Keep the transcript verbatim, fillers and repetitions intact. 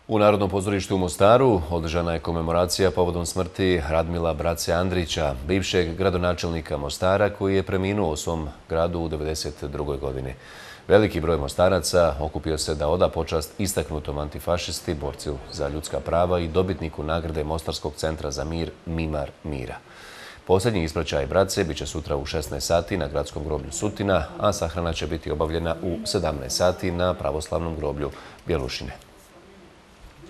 U Narodnom pozorištu u Mostaru održana je komemoracija povodom smrti Radmila Brace Andrića, bivšeg gradonačelnika Mostara koji je preminuo u svom gradu u devedeset drugoj godini. Veliki broj Mostaraca okupio se da oda počast istaknutom antifašisti, borcu za ljudska prava i dobitniku nagrade Mostarskog centra za mir Mimar Mira. Posljednji ispraćaj Brace bit će sutra u šesnaest sati na gradskom groblju Sutina, a sahrana će biti obavljena u sedamnaest sati na pravoslavnom groblju Bjelušine.